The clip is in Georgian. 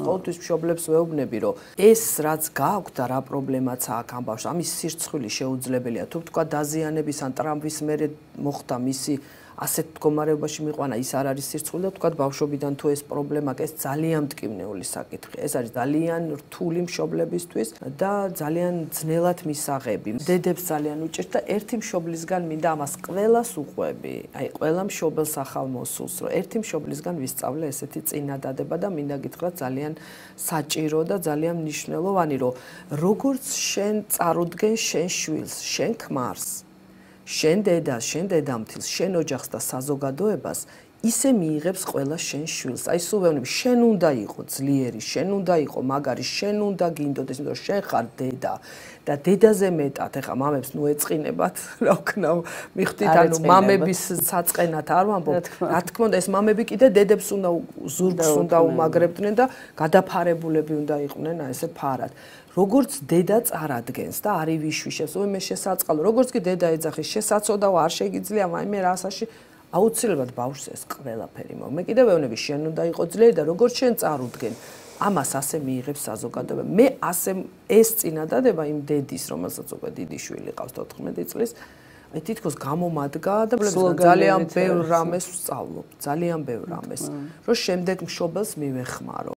ყოველთვის მშობლებს ვეუბნები, რომ ეს რაც გააქვთ და რა პრობლემაც აქვს ამ ბავშვს, ამის სირცხვილი შეუძლებელია. თუ თქვა დაზიანების ან ტრამვის მერე მოხდა მისი ასეთ მდგომარეობაში მიყვანა, ის არ არის სირცხვილი და თქვა ბავშვობიდან თუ ეს პრობლემა აქვს, ეს ძალიან მტკივნეული საკითხია. ეს არის ძალიან რთული მშობლებისთვის და ძალიან ძნელად მისაღები. დედებს ძალიან უჭირთ და ერთი მშობლისგან მინდა ამას ყველას უყვები. აი, ყველა მშობელს ახალ მოსულს, რომ ერთი მშობლისგან ვისწავლე ესეთი წინადადება და მინდა გითხრათ ძალიან საჭირო და ძალიან მნიშვნელოვანი, რომ როგორც შენ წარუდგენ შენ შვილს, შენ ქმარს, შენ დედას, შენ დედამთილს, შენ ოჯახს და საზოგადოებას ისე მიიღებს ყველა შენ შვილს. აი სულ ვეუბნები, შენ უნდა იყო ძლიერი, შენ უნდა იყო მაგარი, შენ უნდა გინდოდეს, იმიტომ რომ შენ ხარ დედა და დედაზე მეტად, ეხა მამებს ნუ ეწყინებათ, რა ვქნა, მიხვდით, ანუ მამების საწყენად არ ვამბობ. რა თქმა უნდა, ეს მამები კიდე დედებს უნდა ზურგს უნდა უმაგრებდნენ და გადაფარებულები უნდა იყვნენ, აი ესე ფარად. როგორც დედა წარადგენს და არის ვიშვიშებს, ой მე შესაწყალო, როგორც კი დედა ეძახის, შესაძოდავ არ შეგიძლია, მე რასაში აუცილებლად ბავშვს ეს ყველაფერი მო. მე კიდევ ვეუბნები, შენ უნდა იყო ძლიერი და როგორც შენ წარუდგენ, ამას ასე მიიღებს საზოგადოება. მე ასე ეს წინადადება იმ დედის, რომელსაც უკვე დიდი შვილი ყავს 14 წლის, აი თითქოს გამომადგა და ძალიან ბევრ რამეს ვსწავლობ, ძალიან ბევრ რამეს, რომ შემდეგ მშობელს მივეხმარო.